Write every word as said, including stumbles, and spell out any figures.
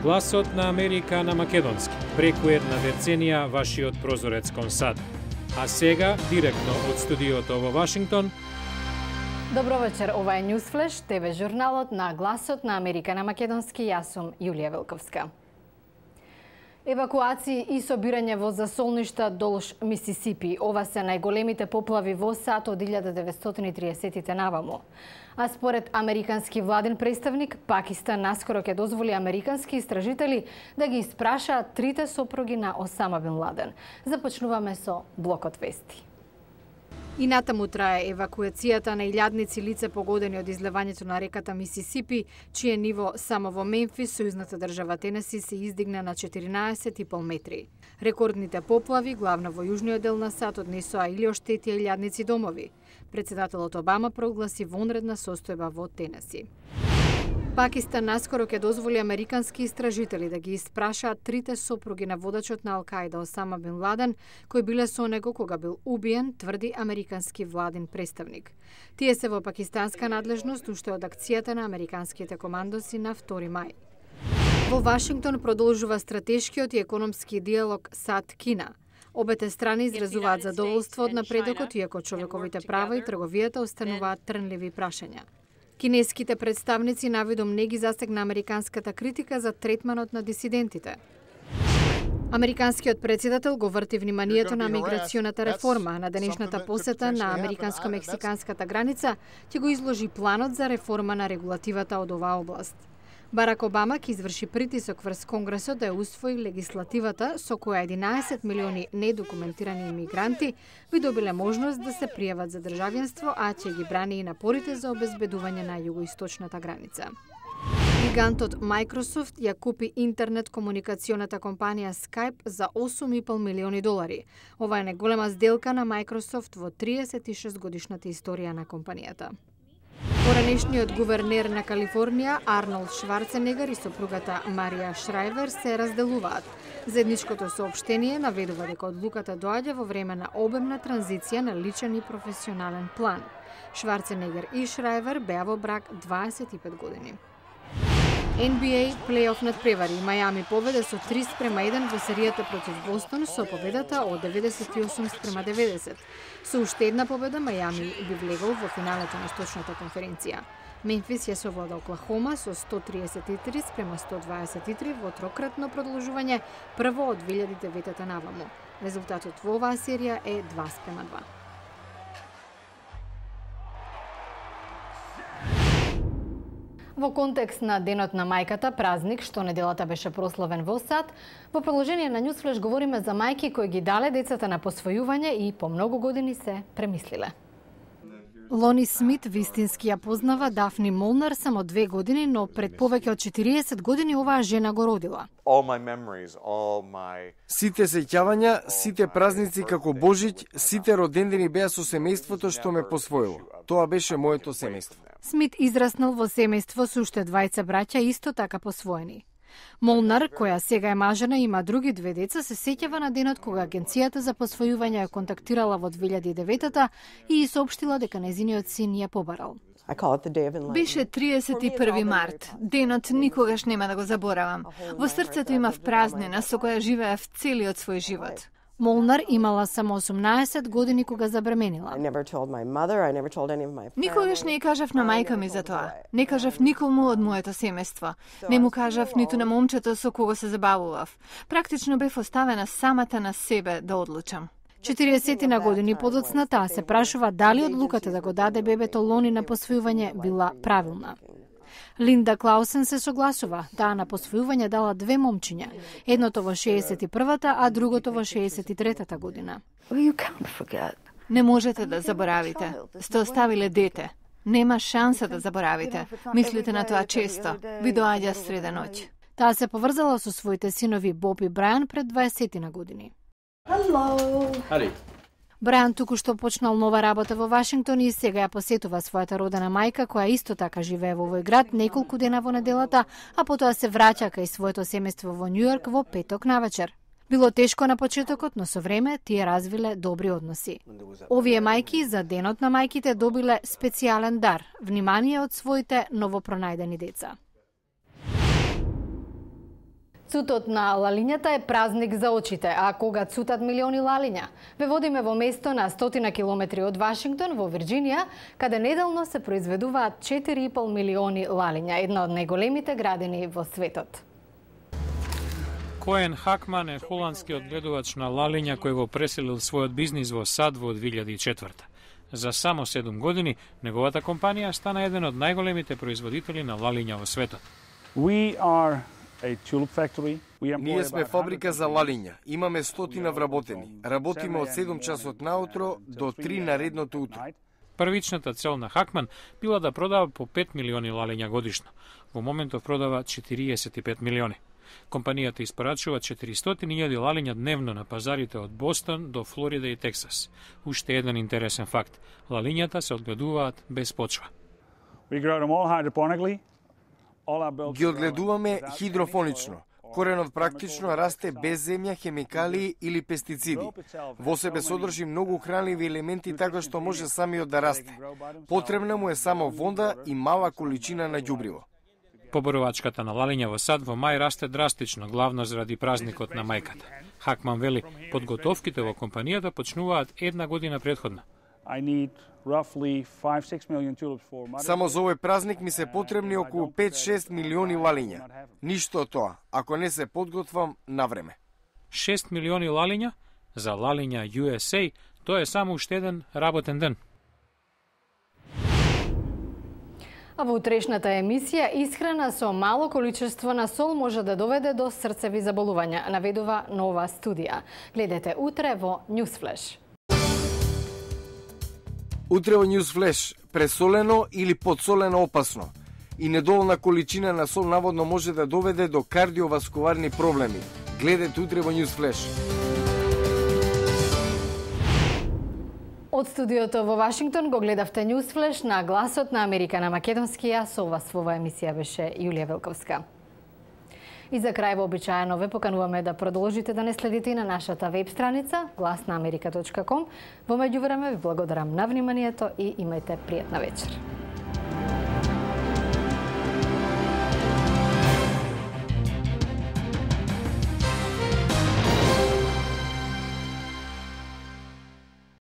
Гласот на Америка на македонски, преку една деценија вашиот прозорец кон САД. А сега, директно од студиото во Вашингтон. Добро вечер, ова е Ньюсфлеш, ТВ журналот на Гласот на Америка на македонски. Јас сум Јулија Велковска. Евакуации и собирање во засолништа долж Мисисипи. Ова се најголемите поплави во САД од илјада деветстотини и тридесеттите наваму. А според американски владен представник, Пакистан наскоро ќе дозволи американски истражители да ги испрашаат трите сопруги на Осама Бин Ладен. Започнуваме со блокот вести. И натаму трае евакуацијата на илјадници лица погодени од излевањето на реката Мисисипи, чие ниво само во Мемфис, сојузната држава Тенеси, се издигна на четиринаесет и пол метри. Рекордните поплави, главно во јужниот дел на САД, однесоа или оштетија илјадници домови. Председателот Обама прогласи вонредна состојба во Тенеси. Пакистан наскоро ќе дозволи американски истражители да ги испрашаат трите сопруги на водачот на Ал-Каида Осама Бин Ладен, кои биле со него кога бил убиен, тврди американски владен представник. Тие се во пакистанска надлежност уште од акцијата на американските командоси на втори мај. Во Вашингтон продолжува стратешкиот и економски диалог САД-Кина. Обете страни изразуваат задоволство од напредокот, иако човековите права и трговијата остануваат трнливи прашања. Кинеските представници навидом не ги застегна американската критика за третманот на дисидентите. Американскиот председател го врти вниманието на миграционата реформа. На денешната посета на американско-мексиканската граница ќе го изложи планот за реформа на регулативата од оваа област. Барак Обама ќе изврши притисок врз Конгресот да ја усвои легислативата со која единаесет милиони недокументирани имигранти би добиле можност да се пријават за државјанство, а ќе ги брани и напорите за обезбедување на југоисточната граница. Гигантот Microsoft ја купи интернет комуникационата компанија Skype за осум и пол милиони долари. Ова е најголема сделка на Microsoft во триесет и шест годишната историја на компанијата. Поранешниот гувернер на Калифорнија Арнолд Шварценегер и сопругата Марија Шрајвер се разделуваат. Заедничкото соопштение наведува дека одлуката доаѓа во време на обемна транзиција на личен и професионален план. Шварценегер и Шрајвер беа во брак дваесет и пет години. Ен Би Ей плейоф надпревари. Мајами победа со три спрема еден во серијата против Бостон со победата од деветдесет и осум спрема деветдесет. Со уште една победа Мајами би влегол во финалето на источната конференција. Мемфис ја совлада Оклахома со сто триесет и три спрема сто дваесет и три во трократно продолжување, прво од две илјади и девета наваму. Резултатот во оваа серија е два спрема два. Во контекст на Денот на мајката, празник што неделата беше прославен во САД, во продолжение на Ньюсфлеш говориме за мајки кои ги дале децата на посвојување и по многу години се премислиле. Лони Смит вистински ја познава Дафни Молнар само две години, но пред повеќе од четириесет години оваа жена го родила. Сите сеќавања, сите празници како Божиќ, сите родендени беа со семејството што ме посвоило. Тоа беше моето семејство. Смит израснал во семејство со уште двајца браќа исто така посвоени. Молнар, која сега е мажена и има други две деца, се сеќава на денот кога Агенцијата за посвојување ја контактирала во две илјади и девета и соопштила дека нејзиниот син ја побарал. Беше триесет и први март. Денот никогаш нема да го заборавам. Во срцето имав празнина со која живеев целиот свој живот. Молнар имала само осумнаесет години кога забременила. Никогаш не ја кажав на мајка ми за тоа. Не кажав никому од моето семејство. Не му кажав ниту на момчето со кого се забавував. Практично бев оставена самата на себе да одлучам. четириесет години подоцна таа се прашува дали одлуката да го даде бебето Лони на посвојување била правилна. Линда Клаусен се согласува. Таа на посвојување дала две момчиња, едното во шеесет и првата, а другото во шеесет и третата година. Не можете да заборавите. Сте оставиле дете. Нема шанса да заборавите. Мислите на тоа често. Ви доаѓа среда ноќ. Таа се поврзала со своите синови Боб и Брајан пред дваесет години. Hello. Хари. Брајан туку што почнал нова работа во Вашингтон и сега ја посетува својата родена мајка, која исто така живее во овој град неколку дена во неделата, а потоа се враќа кај своето семејство во Њујорк во петок навечер. Било тешко на почетокот, но со време тие развиле добри односи. Овие мајки за Денот на мајките добиле специјален дар – внимание од своите новопронајдени деца. Цутот на лалињата е празник за очите, а кога цутат милиони лалиња? Ве водиме во место на стотина километри од Вашингтон, во Вирџинија, каде неделно се произведуваат четири и пол милиони лалиња, една од најголемите градини во светот. Коен Хакман е холандскиот гледувач на лалиња кој го преселил својот бизнис во САД во две илјади и четврта. За само седум години, неговата компанија стана еден од најголемите производители на лалиња во светот. We are Ние сме фабрика за лалиња. Имаме стотина вработени. Работиме од седум часот наутро до три наредното утро. Првичната цел на Хакман била да продава по пет милиони лалиња годишно. Во моментов продава четириесет и пет милиони. Компанијата испорачува четиристотини илјади лалиња дневно на пазарите од Бостон до Флорида и Тексас. Уште еден интересен факт. Лалињата се одгледуваат без почва. We grow them all hydroponically. Ги одгледуваме хидрофонично. Коренот практично расте без земја, хемикалии или пестициди. Во себе содржи многу хранливи елементи така што може самиот да расте. Потребна му е само вода и мала количина на ѓубриво. Поборовачката на лалиња во САД во мај расте драстично, главно заради празникот на мајката. Хакман вели, подготовките во компанијата почнуваат една година претходно. Само за овој празник ми се потребни околу пет-шест милиони лалиња. Ништо од тоа, ако не се подготвам на време. шест милиони лалиња? За лалиња Ю Ес Ей, тоа е само уште еден работен ден. А во утрешната емисија, исхрана со мало количество на сол може да доведе до срцеви заболувања, наведува нова студија. Гледате утре во Newsflash. Утре во Newsflash, пресолено или подсолено опасно. И недоволна количина на сол наводно може да доведе до кардиоваскуларни проблеми. Гледате утре во Newsflash. Од студиото во Вашингтон го гледавте Newsflash на гласот на Америка на македонски. Ја со вас во оваа емисија беше Јулија Велковска. И за крај вообичаено ве покануваме да продолжите да не следите и на нашата веб страница глас на америка точка ком. Во меѓувреме ви благодарам на вниманието и имајте пријатна вечер.